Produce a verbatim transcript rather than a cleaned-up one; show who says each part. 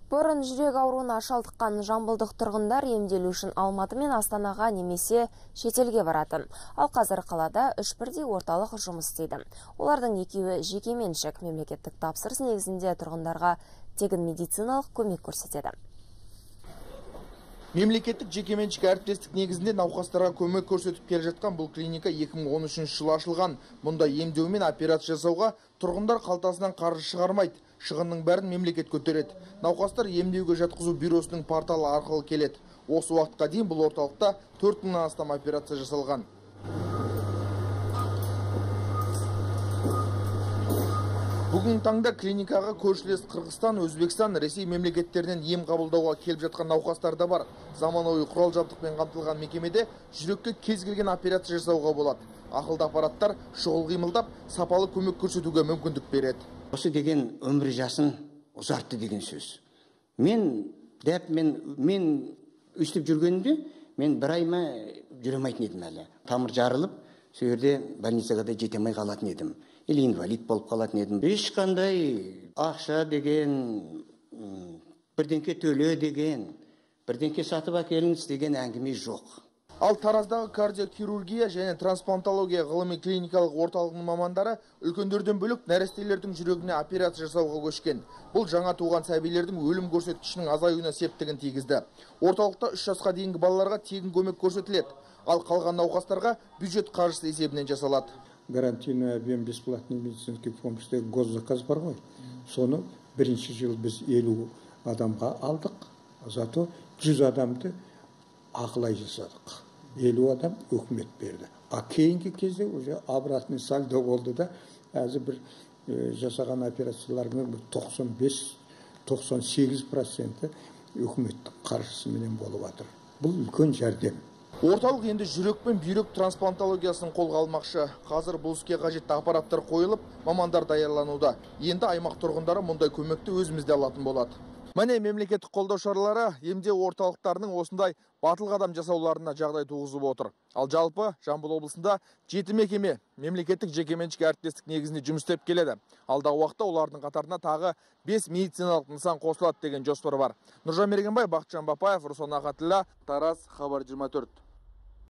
Speaker 1: Бұрын жүрек ауруына шалдыққан жамбылдық тұрғындар емделу үшін Алматы мен Астанаға немесе шетелге баратын. Ал қазір қалада үш бірдей орталық жұмыс істейді. Олардың екеуі жекеменшік, мемлекеттік тапсырыс негізінде тұрғындарға тегін медициналық көмек көрсетеді.
Speaker 2: Мемлекеттік жекеменшік әріптестік негізінде науқастарға көмек көрсетіп келе жатқан бұл клиника екі мың он үшінші жылы ашылған. Мұнда емдеу мен операция жасауға тұрғындар қалтасынан қаржы шығармайды. Шығынның бәрін мемлекет көтереді. Науқастар емдеуге жатқызу бюросының порталы арқылы келеді. Осы уақытқа дейін бұл орталықта төрт мыңнан астам операция жасалған. Бүгін таңда клиникаға көршілес Қырғызстан, Өзбекстан, Ресей мемлекеттерінен ем қабылдауға келіп жатқан науқастар да бар. Заманауи құрал жабдықпен қамтылған мекемеде жүрекке кез келген операция жасауға болады. Ақылды аппараттар шұғыл қимылдап, сапалы көмек көрсетуге мүмкіндік береді.
Speaker 3: Осы деген өмір жасын ұзартты деген сөз. Мен дәп мен мен өстіп жүргенімде мен бір айма жүремейтін едім әлі. Тамыр жарылып, сол жерде больницаға да жете алмай қалатын едім. Или инвалид болып қалатын едім. Ешқандай ақша деген, бірдеңке төле деген, бірдеңке сатып әкеліңіз деген әңгіме жоқ.
Speaker 2: Ал Тараздағы кардиохирургия және трансплантология ғылыми клиникалық орталығының мамандары үлкендерден бөлек нәрестелердің жүрегіне операция жасауға көшкен. Бұл жаңа туған сәбилердің өлім көрсеткішінің азаюына септігін тигізді. Орталықта үш жасқа дейінгі балаларға тегін көмек көрсетіледі. Ал қалған науқастарға бюджет қаржысы есебінен жасалады.
Speaker 4: Гарантийный объем бесплатной медицинской помощи госзаказ бар ғой. Соны бірінші жыл біз елу адамға алдық. Зато жүз адамды ақылай жасадық. елу адам өкімет берді. А кейінгі кезде уже обратный сальдо болды да, әзір бір жасаған операцияларының тоқсан бес тоқсан сегіз проценті өкіметтің қаржысыменен болып жатыр. Бұл үлкен жәрдем.
Speaker 2: Орталық енді жүрек пен бүйрек трансплантологиясын қолға алмақшы. Қазір бұл іске қажетті аппараттар қойылып, мамандар даярлануда. Енді аймақ тұрғындары мұндай көмекті өзімізде алатын болады. Міне мемлекеттік қолдау шаралары емдеу орталықтарының осындай батыл қадам жасауларына жағдай туғызып отыр. Ал жалпы Жамбыл облысында жеті мекеме мемлекеттік жекеменшік әріптестік негізінде жұмыс істеп келеді. Алдағы уақытта олардың қатарына тағы бес медициналық нысан қосылады деген жоспар бар. Нұржан Мергенбай, Бақытжан Бапаев, Руслан Ахатілла, Тараз, Хабар жиырма төрт.